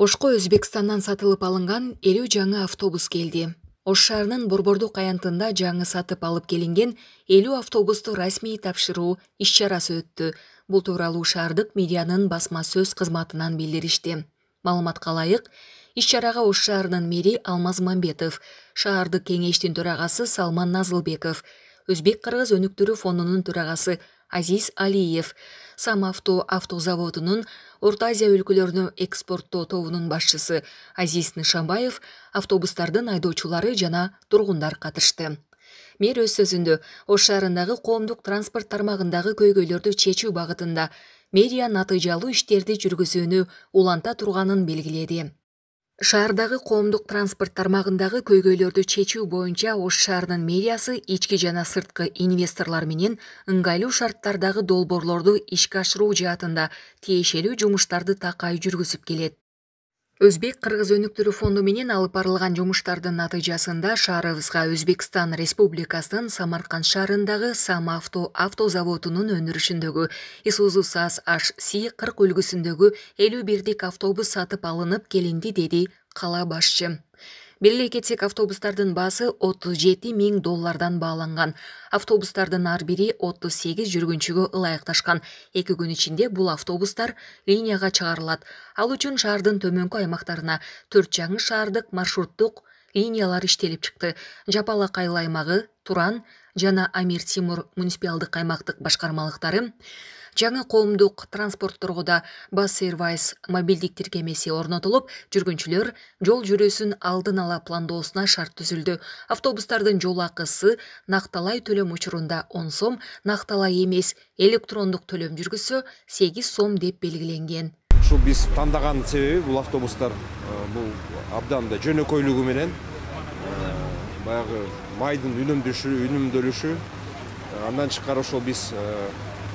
Ошко Өзбекстандан сатылып алынган 50 жаңы автобус келди. Ош шаарынын Борбордук аянтында жаңы сатып алып келинген 50 автобусту расмий тапшыруу иш-чарасы өттү. Бул тууралуу шаардык медианын басма сөз кызматынан билдиришти. Маалыматка ылайык, иш-чарага Ош шаарынын мэри Алмаз Мамбетов, шаардык кеңештин төрагасы Салман Назылбеков, Өзбек-Кыргыз өнүктүрүү фондунун төрагасы Азиз Алиев, Самавто автозаводунун Орто Азия өлкөлөрүнө экспорттоо тобунун башчысы Азиз Нышанбаев, автобустардын айдоочулары жана тургундар катышты. Мэр өз сөзүндө Ош шаарындагы коомдук транспорт тармагындагы көйгөйлөрдү чечүү багытында мэрия натыйжалуу иштерди жүргүзүүнү уланта турганын белгиледи. Шаардагы коомдук транспорт тармагындагы көйгөйлөрдү чечүү боюнча Ош шаарынын мэриясы ички жана сырткы инвесторлор менен ыңгайлуу шарттардагы долбоорлорду ишке ашыруу жаатында тиешелүү жумуштарды такай жүргүзүп келет. Өзбек-Кыргыз өнүктүрүү фонду менен алып барылган жумуштардын натыйжасында шаарыбызга Өзбекстан Республикасынын Самарканд шаарындагы Самавто автозаводунун өндүрүшүндөгү Isuzu САЗ-HC 40 үлгүсүндөгү 51 автобус сатып алынып келинди, деди кала башчы. Белгилей кетсек, автобустардын баасы $37.000 бааланган. Автобустардын ар бири 38 жүргүнчүгө ылайыкташкан. 2 күн ичинде бул автобустар линияга чыгарылат. Ал үчүн шаардын төмөнкү аймактарына 4 жаңы шаардык маршруттук линиялар иштелип чыкты. Жапалак айыл аймагы, Туран жана Амир Тимур муниципалдык аймактык башкармалыктары, жаңы коомдук транспортторго да Bus Service мобилдик тиркемеси орнотулуп, жүргүнчүлөр жол жүрүүсүн алдын ала пландоосуна шарт түзүлдү. Автобустардын жол акысы накталай төлөм учурунда 10 сом, накталай эмес электрондук төлөм жүргүзсө 8 сом деп белгиленген. Ушул биз тандаган себеби бул автобустар бул абдан да жөнөкөйлүгү менен баягы майдын үнөмдөлүшү, андан тышкары ошол биз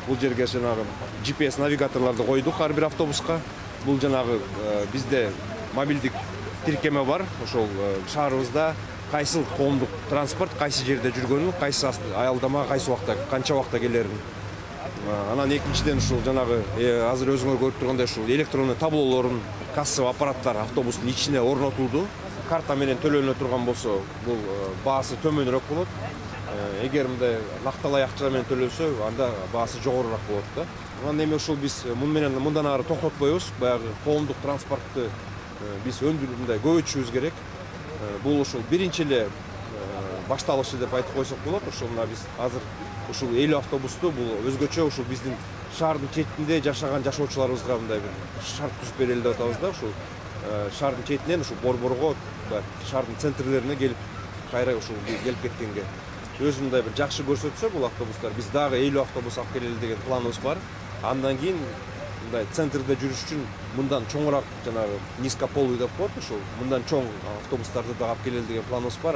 бул жерге жанагы GPS навигаторлорду койдук ар бир автобуска. Бул жанагы бизде мобилдик тиркеме бар. Ошол шаарыбызда кайсы коомдук транспорт кайсы жерде жүргөнүн, кайсы аялдама кайсы убакта, канча убакта келерин. Анан экинчиден ушул жанагы азыр өзүңөр көрүп тургандай ушул электрондуу таблолорун, кассовый аппараттар автобустун ичине орнотулду. Карта менен төлөнө турган болсо, бул баасы төмөнүрөөк болот. Эгер мындай накталай акча менен төлөнсө, анда баасы жогорураак болот да. Анан эми ушул биз мындан ары токтотпойбуз. Баягы коомдук транспортту биз мындай көбөйтүшүбүз керек. Бул ушул биринчи эле башталышы деп айтып койсок болот. Ушул мына биз азыр ушул 50 автобусту бул өзгөчө ушул биздин шаардын четинде жашаган жашоочуларыбызга мындай бир шарт түзүп берели деп атабыз да. Ушул шаардын четинен ушул борборго, шаардын центрлерине келип, кайра ушул келип кеткенге өзү мындай бир жакшы көрсөтсө бул автобустар, биз дагы 50 автобус алып келели деген планыбыз бар. Андан кийин мындай центрде жүрүш үчүн мындан чоңураак жанагы низкополый деп коет, ушул мындан чоң автобустарды да алып келели деген планыбыз бар.